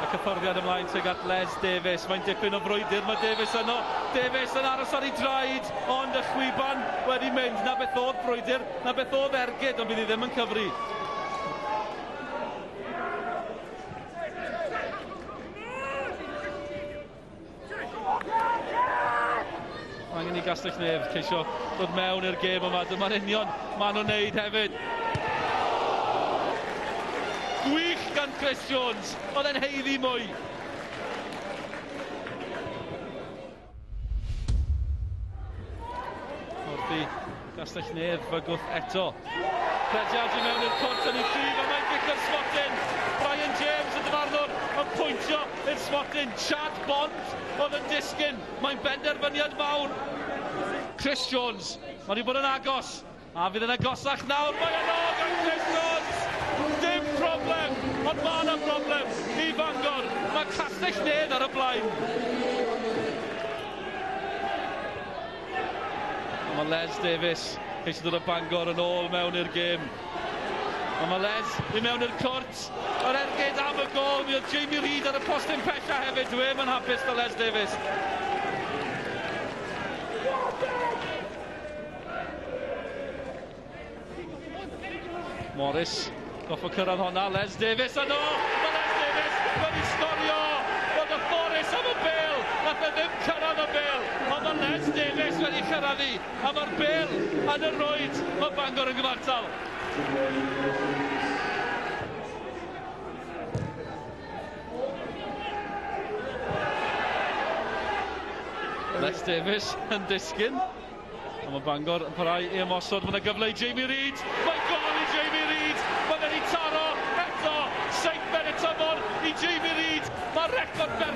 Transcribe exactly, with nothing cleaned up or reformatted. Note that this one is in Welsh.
Y cyffyrddiad ymlaen tuag at Les Davies. Mae'n dipyn o frwydr, mae Davies yno. Davies yn aros ar ei draed, ond y chwiban wedi mynd. Na beth oedd brwydr, na beth oedd ergyd, ond bydd hi ddim yn cyfri. Angen i Gastell Nedd ceisio dod mewn i'r gêm yma. Dyma'r union maen nhw'n neud hefyd. Gwych gan Chris Jones, oedd e'n haeddu mwy. Wrth i Gastell Nedd fygwth eto. Rediad i mewn i'r cwrt yn ei prif, a mae'n gic o'r smotyn. Brian James, y dyfarnwr, yn pwyntio i'r smotyn. Chad Bond oedd yn disgyn. Mae'n benderfyniad mawr. Chris Jones, mae wedi bod yn agos. A fydd yn agosach nawr. Mae yno gan Chris Jones. Dim problem, ond mae yna broblem i Fangor. Mae Castell Nedd ar y blaen. A mae Les Davies eisiau dod o Bangor yn ôl mewn i'r gêm. A mae Les i mewn i'r cwrt. Yr ergyd am y gôl. Mi oedd Jamie Reid ar y postyn pella hefyd. Dwi ddim yn hapus da Les Davies. Morris goffo cyrraedd honna. Les Davies yno! Mae Les Davies wedi sgorio! Roedd y Forest am y bêl! Nath e ddim cyrraedd y bêl! Ond mae Les Davies wedi cyrraedd hi! A mae'r bêl yn y rwyd! Mae Bangor yn gyfartal! Les Davies yn disgyn. A mae Bangor yn parhau i ymosod. Mae yna gyfle i Jamie Reid. Mae'n gôl i Jamie Reid. Mae fe'n ei taro eto. Seithfed y tymor i Jamie Reid. Mae record berffaith.